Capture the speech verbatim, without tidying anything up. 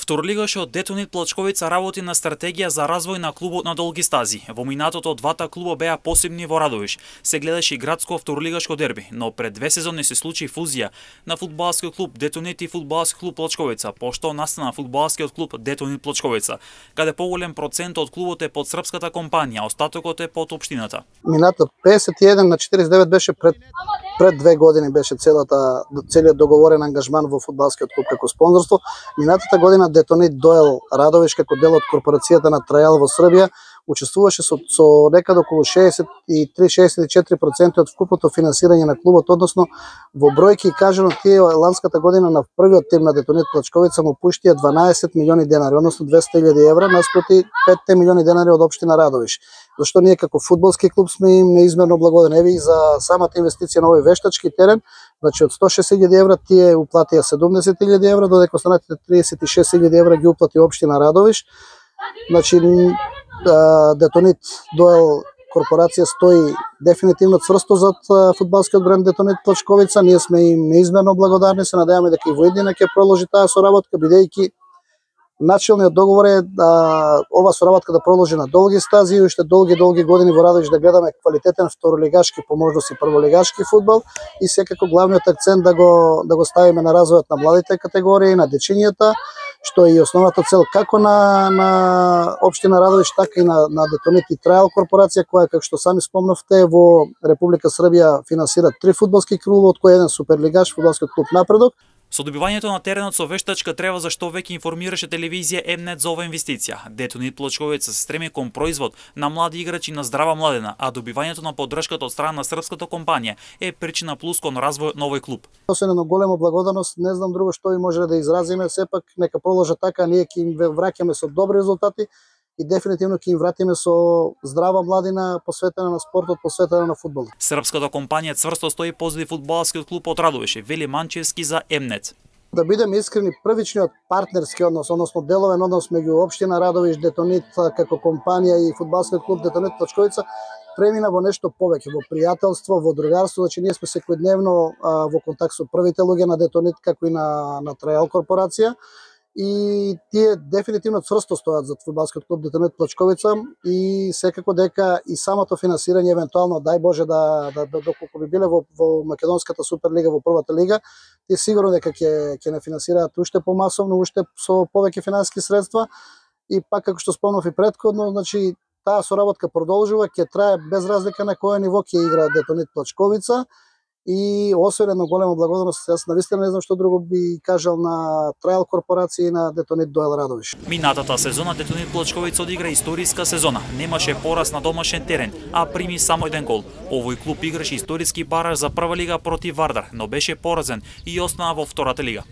Второлигашот Детонит Плачковица работи на стратегија за развој на клубот на долги стази. Во минатото двата клуба беа посебни во Радовиш. Се гледаше и градско второлигашко дерби, но пред две сезони се случи фузија на фудбалскиот клуб Детонит и фудбалски клуб Плачковица, пошто настана фудбалскиот клуб Детонит Плачковица, каде поголем процент од клубот е под српската компанија, остатокот е под општината. Минато песет и еден на четиридесет и девет беше пред пред две години беше целата целиот договорен ангажман во фудбалскиот клуб како спонзорство. Минатата година Детонит доел Радовиш како дел од корпорацијата на Трајал во Србија, учествуваше со, со некаде околу шеесет и три до шеесет и четири проценти од вкупното финансирање на клубот, односно во бројки кажано тие ланската година на првиот тим на Детонит Плачковица му пуштија дванаесет милиони денари, односно двесте илјади евра наспроти петте милиони денари од општина Радовиш. Зашто ние како фудбалски клуб сме им неизмерно благодарни. Еви за самата инвестиција на овој вештачки терен, значи од сто шесет илјади евра тие уплатија седумдесет илјади евра, додека останатите тридесет и шест илјади евра ги уплати општина Радовиш. Значи Детонит доел корпорација стои дефинитивно цврсто зад фудбалскиот бренд Детонит Плачковица. Ние сме им неизмерно благодарни, се надеваме дека и во иднина ќе продолжи таа соработка, бидејќи начелниот договор е да ова соработка да продолжи на долги стази и уште долги долги години во Радовиш да гледаме квалитетен второлигашки, по можност и прволигашки фудбал, и секако главниот акцент да го да го ставиме на развојот на младите категории, на дечињата, што е и основната цел како на на општина Радовиш, така и на на Детонит и Трајал корпорација, која како што сами спомнавте во Република Србија финансира три фудбалски клуба, од кои еден суперлигаш, фудбалскиот клуб Напредок. Со добивањето на теренот со вештачка трева, за што веќе информираше телевизија М-нет за ова инвестиција. Детонит Плачковица се стреми кон производ на млади играчи на здрава младена, а добивањето на поддршката од страна на српската компанија е причина плюс кон развојот на овој клуб. Освен едно големо благодарност, не знам друго што ви може да изразиме, сепак нека продолжат така, ние ќе им враќаме со добри резултати и дефинитивно ќе им вратиме со здрава младина посветена на спортот, посветена на фудбалот. Српската компанија цврсто стои позади фудбалскиот клуб од Радовиш, вели Манчевски за М-нет. Да бидеме искрени, првичниот партнерски однос, односно деловен однос меѓу општина Радовиш, Детонит како компанија и фудбалскиот клуб Детонит Плачковица премина во нешто повеќе, во пријателство, во другарство. Значи ние сме секојдневно во контакт со првите луѓе на Детонит како и на на Трајал корпорација. И тие дефинитивно цврсто стојат за фудбалскиот клуб Детонит Плачковица и секако дека и самото финансирање евентуално, дај Боже да да доколку би биле во во македонската суперлига, во првата лига, тие сигурно дека ќе ќе не финансираат уште помасовно, уште со повеќе финансиски средства. И пак како што спомнав и претходно, значи таа соработка продолжува, ќе трае без разлика на кој ниво ќе игра Детонит Плачковица. И освен едно големо благодарност, јас навистина не знам што друго би кажал на Трајал корпорација и на Детонит доел Радовиш. Минатата сезона Детонит Плачковица одигра историска сезона. Немаше пораз на домашен терен, а прими само еден гол. Овој клуб играше историски бараж за прва лига против Вардар, но беше поразен и остана во втората лига.